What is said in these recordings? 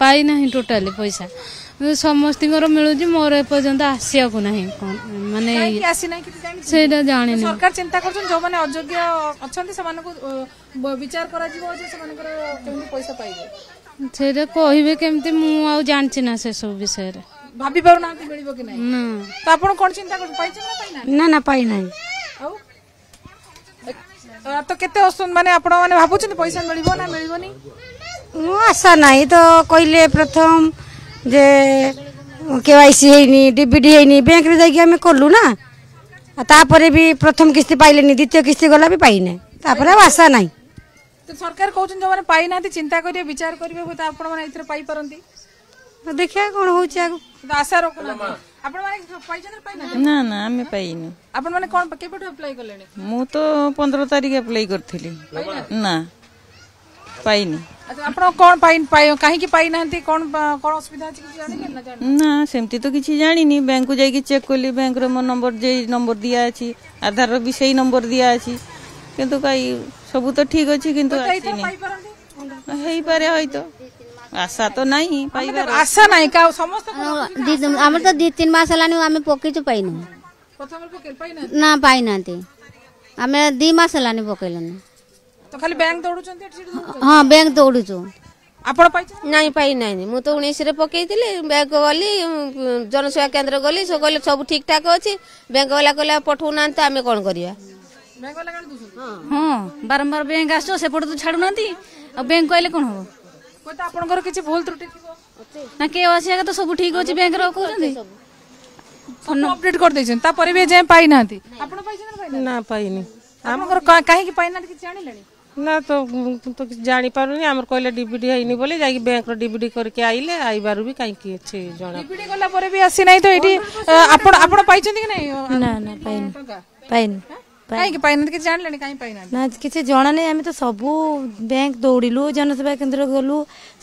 ପାଇନାହିଁ ଟୋଟାଲି ପଇସା। ସମସ୍ତଙ୍କର ମିଳୁଛି, ମୋର ଏପର୍ଯ୍ୟନ୍ତ ଆସିବାକୁ ନାହିଁ। ମାନେ ସେଇଟା ଜାଣିନି। ସରକାର ଚିନ୍ତା କରୁଛନ୍ତି ଯୋଉମାନେ ଅଯୋଗ୍ୟ ଅଛନ୍ତି ସେମାନଙ୍କୁ ବିଚାର କରାଯିବ ଯେ ସେମାନଙ୍କର କେମିତି ପଇସା ପାଇବେ। ସେଇଟା କହିବେ କେମିତି, ମୁଁ ଆଉ ଜାଣିଛି ନା ସେସବୁ ବିଷୟରେ। ଭାବି ପାରୁନାହାନ୍ତି ମିଳିବ କି ନାହିଁ। ତ ଆପଣ କଣ ଚିନ୍ତା କରୁଛନ୍ତି, ପାଇଛନ୍ତି ନା ପାଇନାହାନ୍ତି? ନା ନା, ପାଇନାହିଁ। ଆଉ ତ କେତେ ମାନେ ଆପଣ ମାନେ ଭାବୁଛନ୍ତି ପଇସା ମିଳିବ ନା ମିଳିବନି? ମୁଁ ଆଶା ନାହିଁ। ତ କହିଲେ ପ୍ରଥମ ଯେ କେୱାଇସି ହେଇନି, ଡିବିଟି ହେଇନି, ବ୍ୟାଙ୍କରେ ଯାଇକି ଆମେ କଲୁ ନା, ତାପରେ ବି ପ୍ରଥମ କିସ୍ତି ପାଇଲେନି, ଦ୍ୱିତୀୟ କିସ୍ତି ଗଲା ବି ପାଇନେ, ତାପରେ ଆଉ ଆଶା ନାହିଁ। ସରକାର କହୁଛନ୍ତି ଯୋଉମାନେ ପାଇନାହାନ୍ତି ଚିନ୍ତା କରିବେ, ବିଚାର କରିବେ, ହୁଏତ ଆପଣମାନେ ଏଥିରେ ପାଇପାରନ୍ତି। ଦେଖିବା କଣ ହଉଛି ଆଗକୁ। ଆଶା ରଖୁନାହାନ୍ତି। ଆପଣମାନେ ପାଇଛନ୍ତି? ପାଇନାହାନ୍ତି? ନା ନା, ଆମେ ପାଇନୁ। ଆପଣମାନେ କଣ କେବେଠୁ ଆପ୍ଲାଏ କଲେଣି? ମୁଁ ତ 15 ତାରିଖ ଆପ୍ଲାଏ କରିଥିଲି, ନା ପାଇନି। ଆପଣ କଣ କାହିଁକି ପାଇନାହାନ୍ତି, କଣ କଣ ଅସୁବିଧା ଅଛି କିଛି ଜାଣିଲେ? ନା, ସେମିତି ତ କିଛି ଜାଣିନି। ବ୍ୟାଙ୍କକୁ ଯାଇକି ଚେକ୍ କଲି, ବ୍ୟାଙ୍କର ମୋ ନମ୍ବର ଯେ ନମ୍ବର ଦିଆ ଅଛି, ଆଧାରର ବି ସେଇ ନମ୍ବର ଦିଆ ଅଛି, କିନ୍ତୁ କାଇ ସବୁ ତ ଠିକ ଅଛି କିନ୍ତୁ ଆସିନି। ହେଇପାରେ ହয়তো, ଆଶା ତ ନାହିଁ ପାଇବାର। ଆଶା ନାହିଁ ସମସ୍ତ। ଆମର ତ 2 3 ମାସ ହେଲାଣି ଆମେ ପକେଇଛୁ, ପାଇନୁ ନା, ପାଇନାହାନ୍ତି। ଆମେ 2 ମାସ ହେଲାଣି ପକେଇଲୁଣି। ତ ଖାଲି ବ୍ୟାଙ୍କ ଦୌଡୁଛନ୍ତି? ହଁ, ବ୍ୟାଙ୍କ ଦୌଡୁଛୁ। ଆପଣ ପାଇଛନ୍ତି? ନାଇଁ, ପାଇନାହିଁ। ମୁଁ ତ 19ରେ ପକେଇଥିଲି। ବ୍ୟାଙ୍କ ଗଲି, ଜନସେବା କେନ୍ଦ୍ର ଗଲି, ସେ କହିଲେ ସବୁ ଠିକ ଠାକ ଅଛି। ବ୍ୟାଙ୍କ ବାଲା କହିଲେ ପଠଉନାହାନ୍ତି, ତ ଆମେ କଣ କରିବା? ହଁ, ବାରମ୍ବାର ବ୍ୟାଙ୍କ ଆସୁଛ, ସେପଟେ ତ ଛାଡୁନାହାନ୍ତି, ଆଉ ବ୍ୟାଙ୍କ କହିଲେ କଣ ହବ? ଆପଣଙ୍କର କିଛି ଭୁଲ ତ୍ରୁଟି ଥିବ ନା? କେ ଆସିବା ତ ସବୁ ଠିକ ଅଛି ବ୍ୟାଙ୍କର କହୁଛନ୍ତି, ଅପଡେଟ କରିଦେଇଛନ୍ତି, ତାପରେ ବି ଏଯାଏଁ ପାଇନାହାନ୍ତି। ଆପଣ ପାଇଛନ୍ତି? ନା, ପାଇନି। ଆପଣଙ୍କର କାହିଁକି ପାଇନାହାନ୍ତି କିଛି ଜାଣିଲେଣି? ନା ତ, ତ କିଛି ଜାଣିପାରୁନି। ଆମର କହିଲେ ଡିବିଡି ହେଇନି ବୋଲି, ଯାଇକି ବ୍ୟାଙ୍କର ଡିବିଡି କରିକି ଆଇଲେ, ଆଇବାରୁ ବି କାହିଁକି କିଛି ଜଣା। ଡିବିଡି କଲା ପରେ ବି ଆସିନାହିଁ। ତ ଏଇଠି ଆପଣ ପାଇଛନ୍ତି କି ନାଇଁ? ନା ନା, ପାଇନି, ପାଇନି। କାହିଁକି ପାଇନାହାନ୍ତି କିଛି ଜାଣିଲେଣି? କାହିଁ ପାଇନାହାନ୍ତି? ନା, କିଛି ଜଣା ନାହିଁ। ଆମେ ତ ସବୁ ବ୍ୟାଙ୍କ ଦୌଡ଼ିଲୁ, ଜନସେବା କେନ୍ଦ୍ର ଗଲୁ,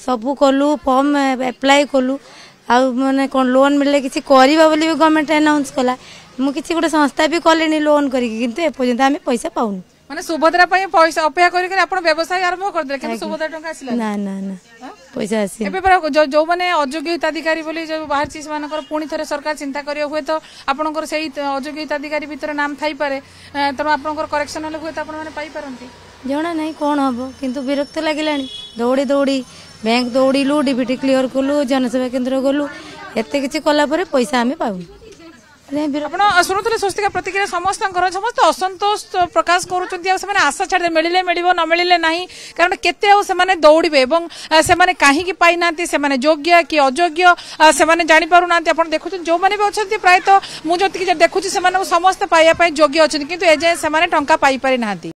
ସବୁ କଲୁ, ଫର୍ମ ଆପ୍ଲାଏ କଲୁ, ଆଉ ମାନେ କ'ଣ ଲୋନ୍ ମିଳିଲେ କିଛି କରିବା ବୋଲି ବି ଗଭର୍ଣ୍ଣମେଣ୍ଟ ଆନାଉନ୍ସ କଲା। ମୁଁ କିଛି ଗୋଟେ ସଂସ୍ଥା ବି କଲିଣି ଲୋନ୍ କରିକି, କିନ୍ତୁ ଏପର୍ଯ୍ୟନ୍ତ ଆମେ ପଇସା ପାଉନୁ। ମାନେ ସୁଭଦ୍ରା ପାଇଁ ପଇସା ଅପେକ୍ଷା କରିକି ଆପଣ ବ୍ୟବସାୟ ଆରମ୍ଭ କରିଦେଲେ, କିନ୍ତୁ ସୁଭଦ୍ରା ଟଙ୍କା ଆସିଲା ନା? ନା ନା, ପଇସା ଆସିନି। ଏବେ ପରା ଯୋଉମାନେ ଅଯୋଗ୍ୟ ହିତାଧିକାରୀ ବୋଲି ଯୋଉ ବାହାରିଛି, ସେମାନଙ୍କର ପୁଣି ଥରେ ସରକାର ଚିନ୍ତା କରିବ। ହୁଏତ ଆପଣଙ୍କର ସେଇ ଅଯୋଗ୍ୟ ହିତାଧିକାରୀ ଭିତରେ ନାମ ଥାଇପାରେ, ତେଣୁ ଆପଣଙ୍କର କରେକ୍ସନ ହେଲେ ହୁଏତ ଆପଣମାନେ ପାଇପାରନ୍ତି। ଜଣା ନାହିଁ କଣ ହବ, କିନ୍ତୁ ବିରକ୍ତ ଲାଗିଲାଣି। ଦୌଡ଼ି ଦୌଡ଼ି ବ୍ୟାଙ୍କ ଦୌଡ଼ିଲୁ, ଡିବିଟି କ୍ଲିୟର କଲୁ, ଜନସେବା କେନ୍ଦ୍ର ଗଲୁ, ଏତେ କିଛି କଲା ପରେ ପଇସା ଆମେ ପାଉନୁ। ଆପଣ ଶୁଣୁଥିଲେ ସ୍ୱସ୍ତିକା ପ୍ରତିକ୍ରିୟା ସମସ୍ତଙ୍କର। ସମସ୍ତେ ଅସନ୍ତୋଷ ପ୍ରକାଶ କରୁଛନ୍ତି, ଆଉ ସେମାନେ ଆଶା ଛାଡ଼ିଲେ, ମିଳିଲେ ମିଳିବ, ନ ମିଳିଲେ ନାହିଁ। କାରଣ କେତେ ଆଉ ସେମାନେ ଦୌଡ଼ିବେ, ଏବଂ ସେମାନେ କାହିଁକି ପାଇନାହାନ୍ତି, ସେମାନେ ଯୋଗ୍ୟ କି ଅଯୋଗ୍ୟ ସେମାନେ ଜାଣିପାରୁନାହାନ୍ତି। ଆପଣ ଦେଖୁଛନ୍ତି ଯୋଉମାନେ ବି ଅଛନ୍ତି, ପ୍ରାୟତଃ ମୁଁ ଯେତିକି ଦେଖୁଛି ସେମାନଙ୍କୁ ସମସ୍ତେ ପାଇବା ପାଇଁ ଯୋଗ୍ୟ ଅଛନ୍ତି, କିନ୍ତୁ ଏଯାଏଁ ସେମାନେ ଟଙ୍କା ପାଇପାରି ନାହାନ୍ତି।